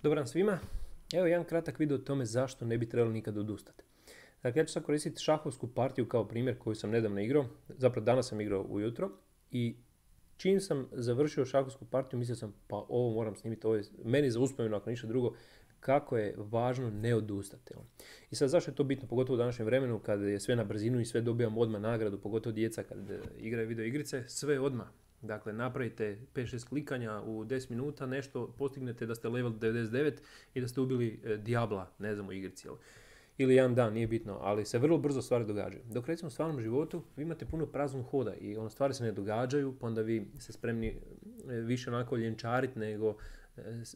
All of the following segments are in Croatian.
Dobar dan svima. Evo jedan kratak video o tome zašto ne bi trebalo nikad odustati. Dakle, ja ću sad koristiti šahovsku partiju kao primjer koju sam nedavno igrao. Zapravo danas sam igrao ujutro i čim sam završio šahovsku partiju mislio sam pa ovo moram snimiti, ovo je meni za uspomenu ako ništa drugo, kako je važno ne odustati. I sad zašto je to bitno, pogotovo u današnjem vremenu kad je sve na brzinu i sve dobijamo odmah nagradu, pogotovo djeca kad igraju video igrice, sve odmah. Dakle, napravite 5-6 klikanja u 10 minuta, nešto postignete da ste level 99 i da ste ubili Diabla, ne znam, u igrici. Ili jedan dan, nije bitno, ali se vrlo brzo stvari događaju. Dok recimo u stvarnom životu vi imate puno praznog hoda i stvari se ne događaju, pa onda vi ste spremni više onako ljenčariti nego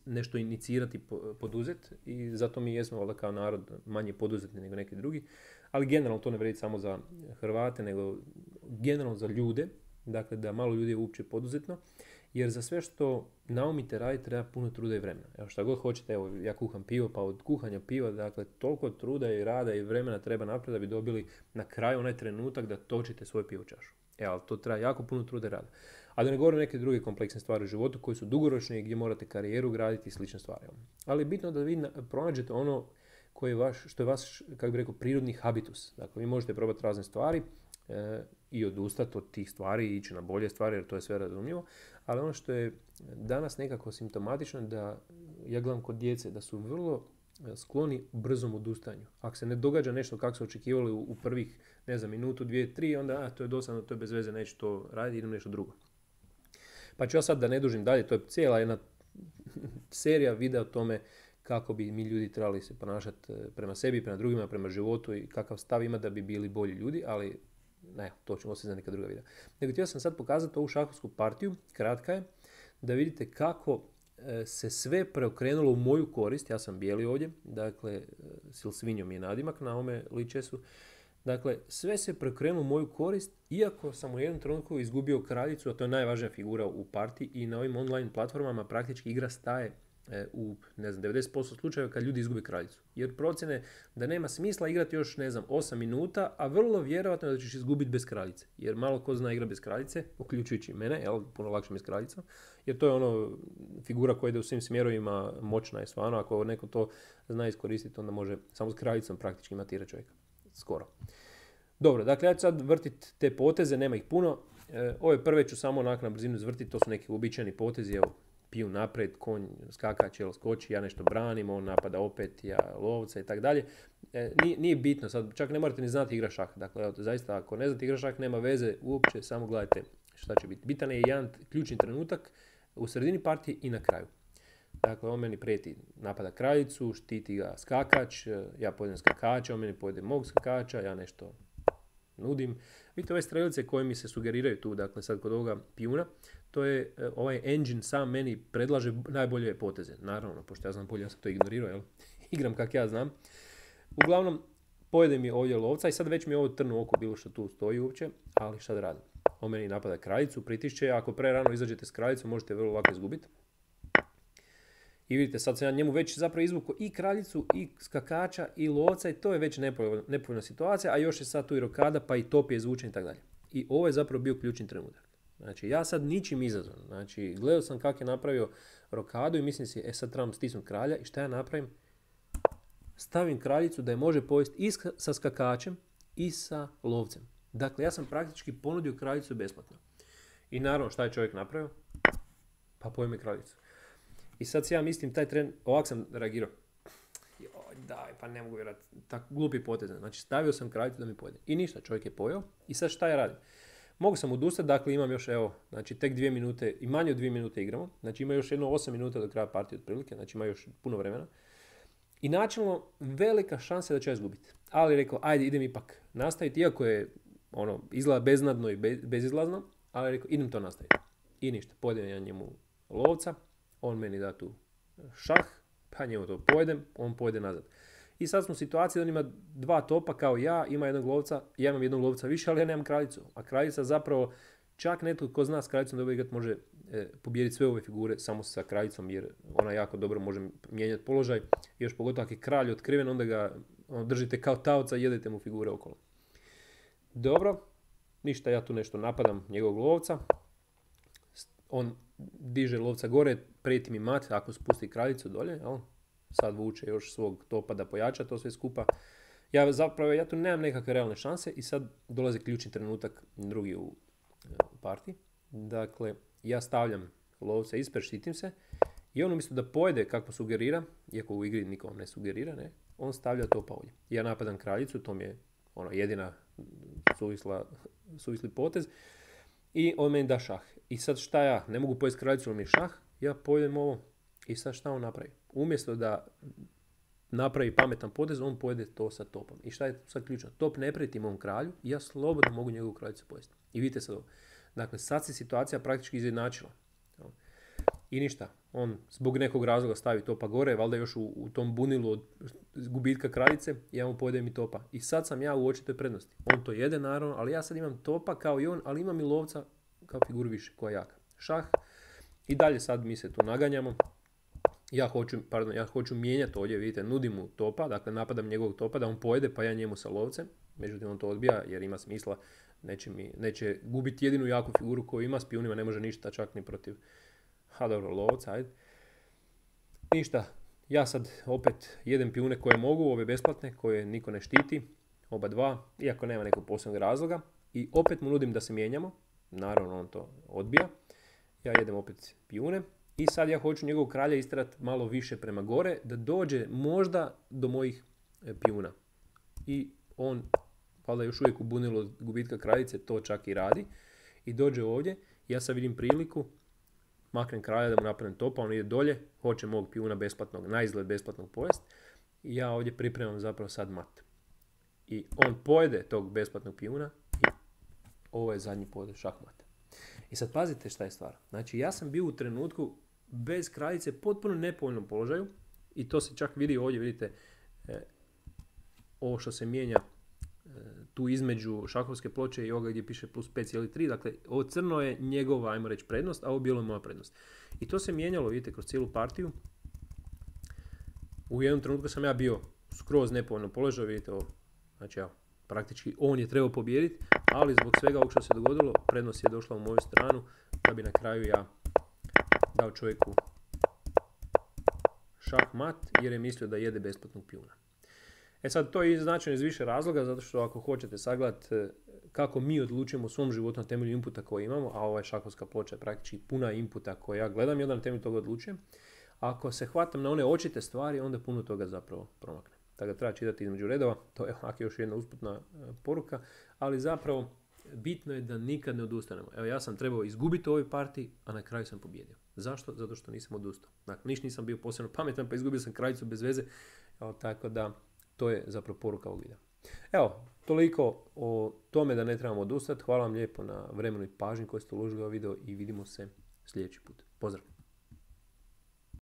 nešto inicirati, poduzeti i zato mi jesmo valjda kao narod manje poduzetni nego neki drugi. Ali generalno to ne vrijedi samo za Hrvate, nego generalno za ljude. Dakle, da malo ljudi je uopće poduzetno, jer za sve što naumite raditi treba puno truda i vremena. Evo šta god hoćete, evo ja kuham pivo, pa od kuhanja piva, dakle, toliko truda i rada i vremena treba napraviti da bi dobili na kraju onaj trenutak da točite svoju pivo čašu. Evo, ali to treba jako puno truda i rada. A da ne govorim neke druge kompleksne stvari u životu koji su dugoročni i gdje morate karijeru graditi i slične stvari. Ali je bitno da vi pronađete ono što je vaš, kako bih rekao, prirodni habitus. Dakle, vi možete probati razne stvari, i odustati od tih stvari i ići na bolje stvari jer to je sve razumljivo, ali ono što je danas nekako simptomatično da ja gledam kod djece da su vrlo skloni brzom odustanju. Ako se ne događa nešto kako su očekivali u prvih, ne znam, minutu, dvije, tri, onda to je dosadno, to je bez veze, neću to raditi, idem nešto drugo. Pa ću ja sad da ne dužim dalje, to je cijela jedna serija videa o tome kako bi mi ljudi trebali se ponašati prema sebi, prema drugima, prema životu i kakav stav ima da bi bili bolji ljudi, ali ne, to ćemo se za neka druga videa. Nego htio sam sad pokazati ovu šahovsku partiju, kratka je, da vidite kako se sve preokrenulo u moju korist. Ja sam bijeli ovdje, dakle, Silsvinjo mi je nadimak na ovome ličesu. Dakle, sve se preokrenulo u moju korist, iako sam u jednom trenutku izgubio kraljicu, a to je najvažnija figura u partiji i na ovim online platformama praktički igra staje u, ne znam, 90% slučajeva kad ljudi izgube kraljicu. Jer procjene da nema smisla igrati još, ne znam, 8 minuta, a vrlo vjerojatno da ćeš izgubiti bez kraljice. Jer malo ko zna igra bez kraljice, uključujući mene, puno lakše mi s kraljicom, jer to je ono figura koja ide u svim smjerovima, moćna je stvarno, ako neko to zna iskoristiti, onda može samo s kraljicom praktički matirati čovjeka. Skoro. Dobro, dakle, ja ću sad vrtiti te poteze, nema ih puno. Ove prve ću samo onak na brzinu izvrtiti, to su neki uobičajeni potezi, evo, piju naprijed, konj skakač, skoči, ja nešto branim, on napada opet, ja lovca i tako dalje. Nije bitno, sad čak ne morate ni znati igra šah. Dakle, evo, zaista, ako ne znate igra šah, nema veze uopće, samo gledajte šta će biti. Bitan je jedan ključni trenutak u sredini partije i na kraju. Dakle, on meni prijeti napada kraljicu, štiti ga skakač, ja pojedem skakača, on meni pojede mog skakača, ja nešto nudim. Vidite ove strelice koje mi se sugeriraju tu, dakle sad kod ovoga pijuna, to je ovaj engine sam meni predlaže najbolje poteze. Naravno, pošto ja znam bolje, ja sam to ignorirao, jel? Igram kak ja znam. Uglavnom, pojede mi ovdje lovca i sad već mi ovo trnu oko bilo što tu stoji uopće, ali šta da radim? On meni napada kraljicu, pritišće, ako prerano izađete s kraljicom možete vrlo lako izgubiti. I vidite, sad sam ja njemu već zapravo izvukao i kraljicu, i skakača, i lovca i to je već nepovoljna situacija, a još je sad tu i rokada, pa i top je izvučen i tako dalje. I ovo je zapravo bio ključni trenutak. Znači, ja sad ničim izazvan. Znači, gledao sam kako je napravio rokadu i mislim si, sad trebam stisnuti kralja i šta ja napravim? Stavim kraljicu da je može povesti i sa skakačem i sa lovcem. Dakle, ja sam praktički ponudio kraljicu besplatno. I naravno, šta je čovjek napravio? Pa pojme kraljicu. I sad si ja mislim, taj tren, ovak sam reagirao. Joj, daj, pa ne mogu vjerati, tako glupi potez. Znači, stavio sam kraljicu da mi pojede. I ništa, čovjek je pojeo. I sad šta ja radim? Mogu sam odustati, dakle imam još, evo, znači tek 2 minute, i manje od 2 minute igramo. Znači ima još jedno 8 minuta do kraja partije otprilike, znači ima još puno vremena. I načelno, velika šansa da ću ja izgubiti. Ali rekao, ajde, idem ipak nastaviti, iako je, izgleda beznadno i bezizlazno, ali rekao, idem to nastaviti. I ništa, pojedem ja njemu lovca. On meni da tu šah, pa njemu to pojedem, on pojede nazad. I sad smo u situaciji da on ima 2 topa kao ja, ima jednog lovca, ja imam jednog lovca više, ali ja nemam kraljicu. A kraljica zapravo, čak netko ko zna s kraljicom dobro igrati može pobijediti sve ove figure samo sa kraljicom, jer ona jako dobro može mijenjati položaj. Još pogotovo ako je kralj otkriven, onda ga držite kao taoca i jedete mu figure okolo. Dobro, ništa, ja tu nešto napadam njegovog lovca. On diže lovca gore, prijeti mi mat ako spusti kraljicu dolje, jel? sad vuče još svog topa da pojača to sve skupa. Ja tu nemam nekakve realne šanse i sad dolazi ključni trenutak drugi u partiji. Dakle, ja stavljam lovca ispred, štitim se i on umjesto da pojede kako sugerira, iako u igri niko ne sugerira, ne, on stavlja topa ovdje. Ja napadam kraljicu, to mi je jedina suvisli potez i on meni da šah. I sad šta ja, ne mogu pojesti kraljicu, on mi je šah, ja pojedem ovo i sad šta on napravi? Umjesto da napravi pametan potez, on pojede to sa topom. I šta je sad ključno? Top ne prijeti mom kralju i ja slobodno mogu njegovu kraljicu pojesti. I vidite sad ovo. Dakle, sad se situacija praktički izjednačila. I ništa, on zbog nekog razloga stavi topa gore, valjda još u tom bunilu od gubitka kraljice, ja mu pojedem i topa. I sad sam ja u očitoj prednosti. On to jede naravno, ali ja sad imam topa kao i on, ali imam i lovca kao figuru više, koja je jaka. Šah. I dalje sad mi se tu naganjamo. Ja hoću mijenjati ovdje, vidite, nudim mu topa, dakle napadam njegovog topa da on pojede, pa ja njemu sa lovcem. Međutim, on to odbija jer ima smisla, neće gubiti jedinu jaku figuru koju ima, s pijunima ne može ništa, čak ni protiv lovca, ajde. Ništa, ja sad opet jedem pijune koje mogu, ove besplatne, koje niko ne štiti, oba dva, iako nema nekog posebnog razloga. I opet mu nudim da se mijenjamo, naravno on to odbija. Ja jedem opet pijune. I sad ja hoću njegovog kralja istrati malo više prema gore, da dođe možda do mojih pijuna. I on, valjda još uvijek u bunilu od gubitka kraljice, to čak i radi. I dođe ovdje, ja sad vidim priliku, maknem kralja da mu napadnem topa, on ide dolje, hoće mog pijuna besplatnog, na izgled besplatnog pojest. I ja ovdje pripremam zapravo sad mat. I on pojede tog besplatnog pijuna i ovo je zadnji potez šahmata. I sad pazite šta je stvar. Znači ja sam bio u trenutku bez kraljice potpuno nepovoljnom položaju i to se čak vidi ovdje, vidite ovo što se mijenja tu između šahovske ploče i ovoga gdje piše plus 5,3, dakle ovo crno je njegova, ajmo reći, prednost, a ovo bijelo je moja prednost. I to se mijenjalo, vidite, kroz cijelu partiju. U jednom trenutku sam ja bio skroz nepovoljnom položaju, vidite ovo, znači ja, praktički on je trebao pobijediti, ali zbog svega ovog što se dogodilo, prednost je došla u moju stranu, da bi na kraju ja dao čovjeku šah mat, jer je mislio da jede besplatnog pijuna. E sad, to je značajno iz više razloga, zato što ako hoćete sagledati kako mi odlučujemo u svom životu na temelju inputa koje imamo, a ova šahovska ploča je praktički puna inputa koje ja gledam i onda na temelju toga odlučujem, ako se hvatam na one očite stvari, onda puno toga zapravo promakne. Tako da treba čitati između redova, to je ovako još jedna usputna poruka, ali zapravo bitno je da nikad ne odustanemo. Evo, ja sam trebao izgubiti u ovoj partiji, a na kraju sam pobjedio. Zašto? Zato što nisam odustao. Dakle, nisam bio posebno pametan, pa izgubio sam kraljicu bez veze. Evo, tako da, to je zapravo poruka ovog videa. Evo, toliko o tome da ne trebamo odustati. Hvala vam lijepo na vremenu i pažnji koju ste uložili u video i vidimo se sljedeći put. Pozdrav!